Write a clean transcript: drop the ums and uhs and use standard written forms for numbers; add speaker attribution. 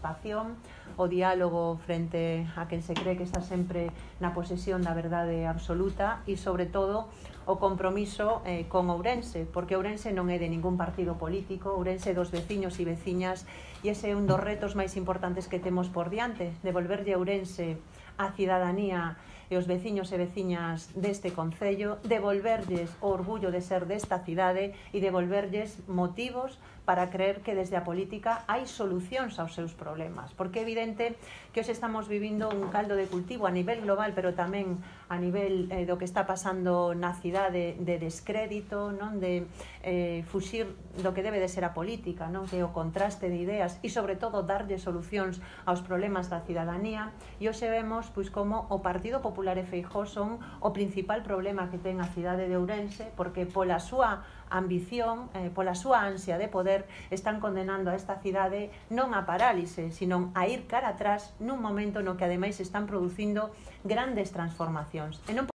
Speaker 1: participación, o diálogo frente a quen se cree que está sempre na posesión da verdade absoluta e, sobre todo, o compromiso con Ourense, porque Ourense non é de ningún partido político, Ourense é dos veciños e veciñas, e ese é un dos retos máis importantes que temos por diante, devolverlle a Ourense a cidadanía e os veciños e veciñas deste concello, devolverlles o orgullo de ser desta cidade e devolverlles motivos para creer que desde a política hai solucións aos seus problemas, porque é evidente que hoxe estamos vivindo un caldo de cultivo a nivel global, pero tamén a nivel do que está pasando na cidade, de descrédito, non, de fuxir do que debe de ser a política, non, que é o contraste de ideas e, sobre todo, darlle solucións aos problemas da cidadanía. E hoxe vemos pois como o Partido Popular e Feijóo son o principal problema que ten a cidade de Ourense, porque pola súa ambición, pola súa ansia de poder, están condenando a esta cidade non a parálise, sino a ir cara atrás nun momento no que ademais están producindo grandes transformacións. E non